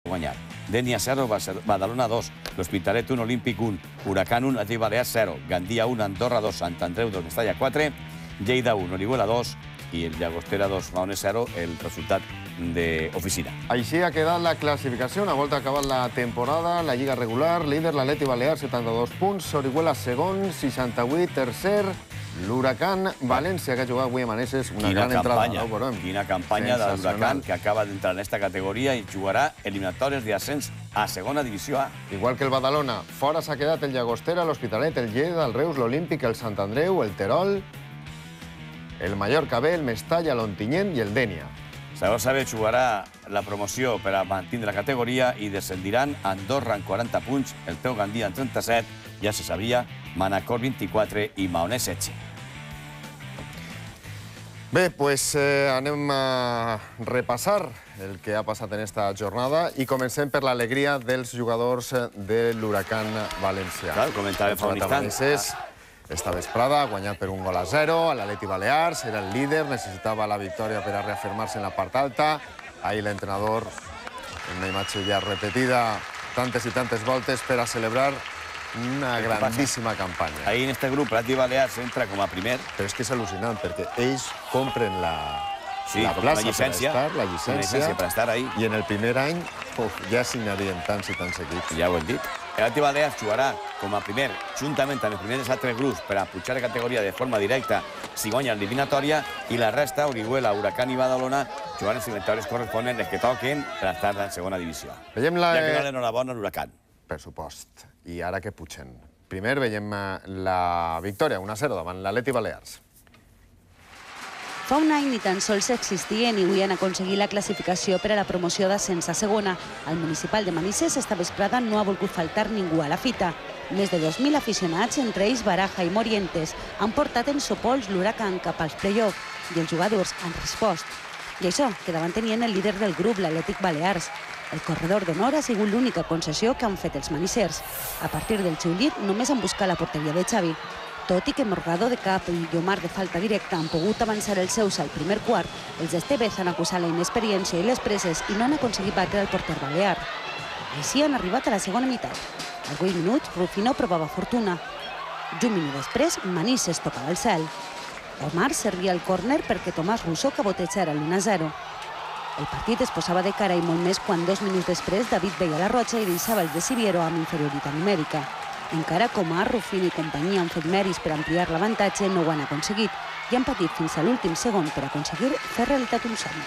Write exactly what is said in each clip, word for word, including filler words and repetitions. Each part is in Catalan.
guanyar. Denia zero, Badalona dos, l'Hospitalet un, Olímpic un, Huracán un, Atlètic Balears zero, Gandia un, Andorra dos, Sant Andreu dos, Mestalla quatre, Lleida un, Orihuela dos i el Llagostera dos, Maonès zero, el resultat d'oficina. Així ha quedat la classificació. Una volta acabat la temporada, la Lliga regular, líder l'Atlètic Balears, setanta-dos punts, Orihuela segon, seixanta-vuit, tercer, l'Huracán València, que ha jugat avui a Manises, una gran entrada. Quina campanya de l'Huracán, que acaba d'entrar en aquesta categoria i jugarà eliminatòries d'ascens a segona divisió A. Igual que el Badalona, fora s'ha quedat el Llagostera, l'Hospitalet, el Lleida, el Reus, l'Olímpic, el Sant Andreu, el Terol, el Mallorca B, el Mestalla, l'Ontinyent i el Dènia. Segons saber, jugarà la promoció per a mantindre la categoria i descendiran Andorra amb quaranta punts, el Teu Gandia amb trenta-set, ja se sabia, Manacor vint-i-quatre i Maonès setze. Bé, doncs anem a repassar el que ha passat en esta jornada i comencem per l'alegria dels jugadors de l'Huracán València. Clar, ho comentàvem fa un instant. Esta vesprada ha guanyat per un gol a zero, l'Atlètic Balears era el líder, necessitava la victòria per a reafirmar-se en la part alta. Ahir l'entrenador, en una imatge ja repetida tantes i tantes voltes, per a celebrar una grandíssima campanya. Ahir en este grup l'Atlètic Balears entra com a primer. Però és que és al·lucinant, perquè ells compren la plaça per estar, la llicència, per estar ahí. I en el primer any ja signarien tants i tants equips. Ja ho hem dit. L'Atlètic Balears jugarà com a primer, juntament amb els primers altres grups, per a pujar de categoria de forma directa si guanya l'eliminatòria, i la resta, Orihuela, Huracán i Badalona, jugaran els eliminatòries corresponents, els que toquen, per estar en segona divisió. Veiem la... Ja que no l'enhorabona a l'Huracán. Per supost. I ara que pugen. Primer veiem la victòria, un a zero davant l'Atlètic Balears. Fa un any ni tan sols existien i avui han aconseguit la classificació per a la promoció d'ascens a segona. El municipal de Manises esta vesprada no ha volgut faltar ningú a la fita. Més de dos mil aficionats, entre ells Baraja i Morientes, han portat en sopols l'Huracán cap als play-off i els jugadors han respost. I això, que davant tenien el líder del grup, l'Atlètic Balears. El corredor d'honor ha sigut l'única concessió que han fet els manisers. A partir del seu llit només han buscat la porteria de Xavi. Tot i que Morgado de cap i Llomar de falta directa han pogut avançar els seus al primer quart, els d'Estevez han acusat la inexperiència i les presses i no han aconseguit batre el porter balear. Així han arribat a la segona meitat. Als vuit minuts, Rufino provava fortuna. I un minut després, Manises tocava el cel. Omar servia el córner perquè Tomàs Rousseau cabotejara l'u a zero. El partit es posava de cara i molt més quan dos minuts després David veia la Roja i deixava els de Siviero amb inferioritat numèrica. Encara Comar, Rufino i companyia han fet mèrits per ampliar l'avantatge, no ho han aconseguit i han patit fins a l'últim segon per aconseguir fer realitat un somni.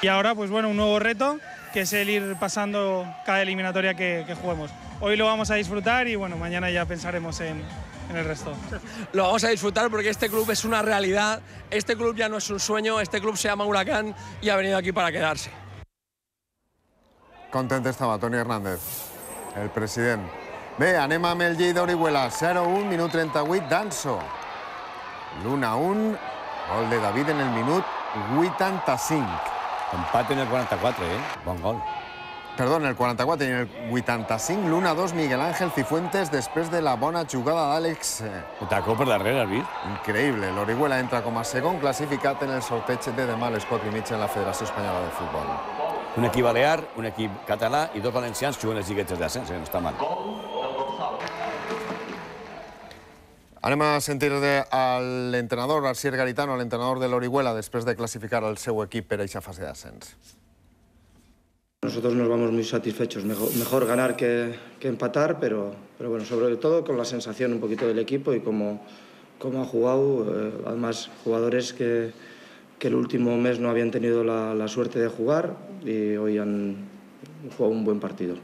Y ahora, pues bueno, un nuevo reto, que es el ir pasando cada eliminatoria que, que juguemos. Hoy lo vamos a disfrutar y bueno, mañana ya pensaremos en, en el resto. Lo vamos a disfrutar porque este club es una realidad, este club ya no es un sueño, este club se llama Huracán y ha venido aquí para quedarse. Content estava Toni Hernández, el president. Bé, anem amb el Lleida Orihuela, zero a un, minut trenta-vuit, Danso. l'u a un, gol de David en el minut vuitanta-cinc. Empat en el quaranta-quatre, eh? Bon gol. Perdó, en el quaranta-quatre i en el vuitanta-cinc, l'u a dos, Miguel Ángel Cifuentes, després de la bona jugada d'Àlex. Un tacó per darrere, has vist? Increïble. L'Orihuela entra com a segon classificat en el sorteig de demà a les quatre i mitja en la Federació Espanyola de Futbol. Un equip balear, un equip català i dos valencians juguen les lliguetes d'ascens, no està mal. Anem a sentir l'entrenador, Arsier Garitano, l'entrenador de l'Orihuela, després de clasificar el seu equip per a aquesta fase d'ascens. Nosotros nos vamos muy satisfechos. Mejor, mejor ganar que, que empatar, pero, pero bueno, sobre todo con la sensación un poquito del equipo y cómo, cómo ha jugado. Eh, además, jugadores que, que el último mes no habían tenido la, la suerte de jugar y hoy han jugado un buen partido.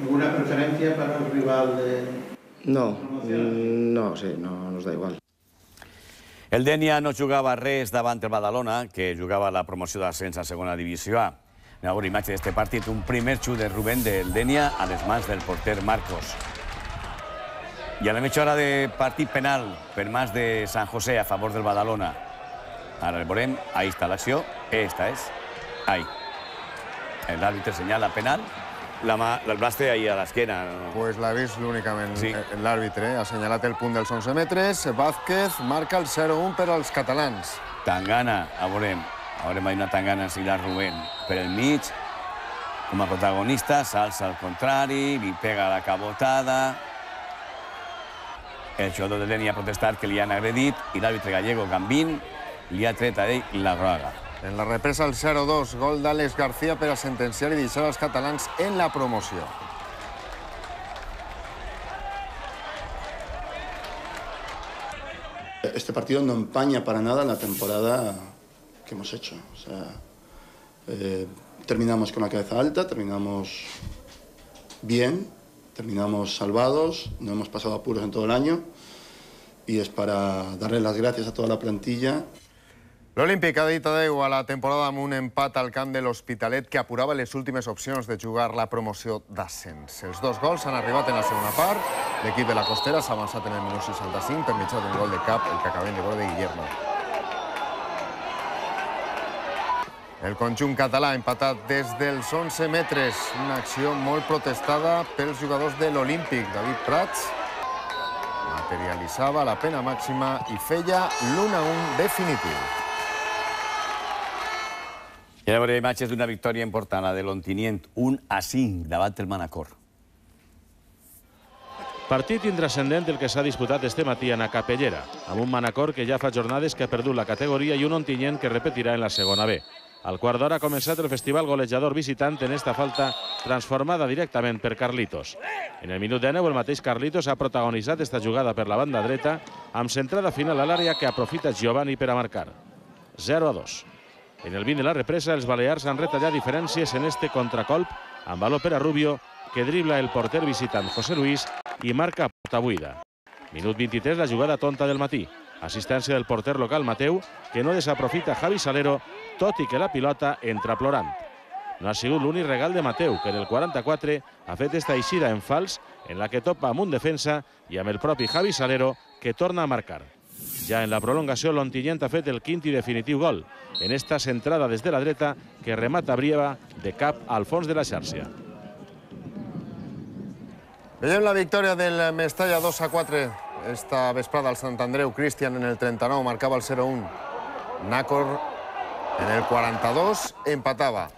¿Alguna preferencia para el rival de...? No, no, sí, no nos da igual. El Dènia no jugava res davant el Badalona, que jugava la promoció d'ascens a segona divisió A. Anem a veure imatge d'aquest partit, un primer xut de Rubén del Dènia a les mans del porter Marcos. I a la mitja hora de partit penal per mans de San José a favor del Badalona. Ara el veurem, ahí està l'acció, esta és, ahí. L'àrbitre senyala penal. La mà, el braç té ahí a l'esquena. Pues l'ha vist únicament l'àrbitre. Ha assenyalat el punt dels onze metres. Vázquez marca el zero a un per als catalans. Tangana, a veurem. A veurem, hi ha una tangana ensilar Rubén per el mig. com a protagonista, s'alça al contrari, li pega la cabotada. El jugador del Denia ha protestat que li han agredit i l'àrbitre gallego Gambín li ha tret a ell la groga. En la represa el zero dos, gol d'Àlex García per a sentenciar i deixar els catalans en la promoció. Este partido no empaña para nada la temporada que hemos hecho. O sea, eh, terminamos con la cabeza alta, terminamos bien, terminamos salvados, no hemos pasado apuros en todo el año y es para darle las gracias a toda la plantilla. L'Olímpic ha dit adeu a la temporada amb un empat al camp de l'Hospitalet que apurava les últimes opcions de jugar la promoció d'ascens. Els dos gols han arribat en la segona part. L'equip de la Costera s'ha avançat en el minut seixanta-cinc per mitjà d'un gol de cap, el que acabem de veure de Guillermo. El conjunt català ha empatat des dels onze metres. Una acció molt protestada pels jugadors de l'Olímpic. David Prats materialitzava la pena màxima i feia l'u a u definitiu. I ara veurem imatges d'una victòria important, la de l'Ontinyent, un a cinc davant el Manacor. Partit intrascendent el que s'ha disputat este matí a na Capellera, amb un Manacor que ja fa jornades que ha perdut la categoria i un Ontinyent que repetirà en la segona B. Al quart d'hora ha començat el festival golejador visitant en esta falta transformada directament per Carlitos. En el minut dinou el mateix Carlitos ha protagonitzat esta jugada per la banda dreta amb centrada final a l'àrea que aprofita Giovanni per a marcar. zero a dos. En el vint de la represa, els balears han retallat diferències en este contracolp amb valor per a Rubio, que dribla el porter visitant José Luis i marca a porta buida. Minut vint-i-tres, la jugada tonta del matí. Assistència del porter local Mateu, que no desaprofita Javi Salero, tot i que la pilota entra plorant. No ha sigut l'únic regal de Mateu, que en el quaranta-quatre ha fet esta eixida en fals, en la que topa amb un defensa i amb el propi Javi Salero, que torna a marcar. Ja en la prolongació, l'Ontinyent ha fet el quint i definitiu gol, en esta centrada des de la dreta que remata Brieva de cap al fons de la xarxa. Veiem la victòria del Mestalla dos a quatre. Esta vesprada al Sant Andreu. Cristian en el trenta-nou marcava el zero a un. Nàcor en el quaranta-dos empatava.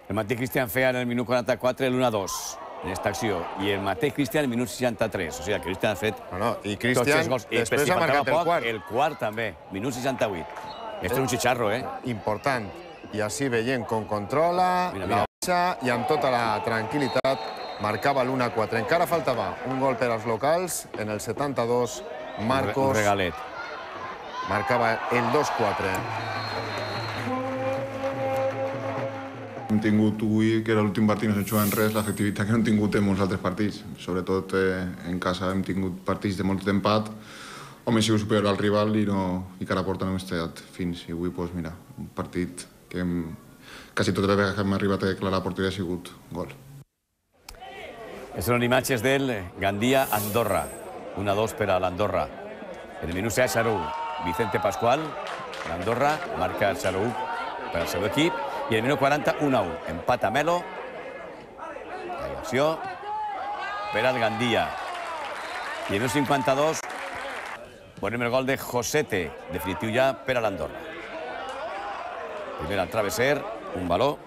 El mateix Cristian feia en el minut quaranta-quatre l'u a dos en aquesta acció. I el mateix Cristian en el minut seixanta-tres. O sigui, el Cristian ha fet no, no. I Cristian després ha marcat el quart. El quart també, minut seixanta-vuit. Este és un xicharro, eh? Important. I així veient com controla, la baixa i amb tota la tranquil·litat marcava l'u a quatre. Encara faltava un gol per als locals. En el setanta-dos, Marcos... Un regalet. Marcava el dos a quatre. Hem tingut avui, que era l'últim partit, no s'ha jugat en res, l'efectivitat que no hem tingut en molts altres partits. Sobretot en casa hem tingut partits de molt d'empat, on hem sigut superior al rival i, no, i que a la porta no hem estat fins. I avui, doncs, mira, un partit que hem, quasi totes les vegades que hem arribat a declarar la porteria ha sigut gol. Són imatges del Gandia-Andorra. un a dos per a l'Andorra. En el minut zero a u, Vicente Pascual, l'Andorra, marca el zero a u per al seu equip. I en el minut quaranta, un a u. Empat a Melo. La acció per al Gandia. I en el minut cinquanta-dos, veurem el gol de Josete, definitiu ja per a l'Andorra. Primer al travesser, un valor.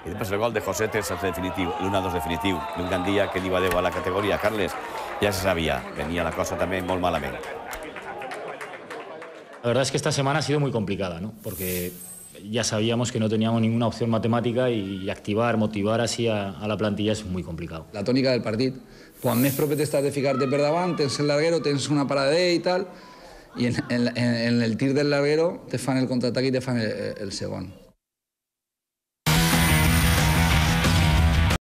I després el gol de Josete és el definitiu, l'u a dos definitiu. Un Gandia que diu adeu a la categoria. Carles, ja se sabia, venia la cosa també molt malament. La verdad es que esta semana ha sido muy complicada, ¿no? Porque ya sabíamos que no teníamos ninguna opción matemática y activar, motivar así a, a la plantilla es muy complicado. La tònica del partit. Quan més proper t'estàs de ficar-te per davant, tens el larguero, tens una parada d'ell i tal, i en, en, en el tir del larguero te fan el contraatac i te fan el, el segon.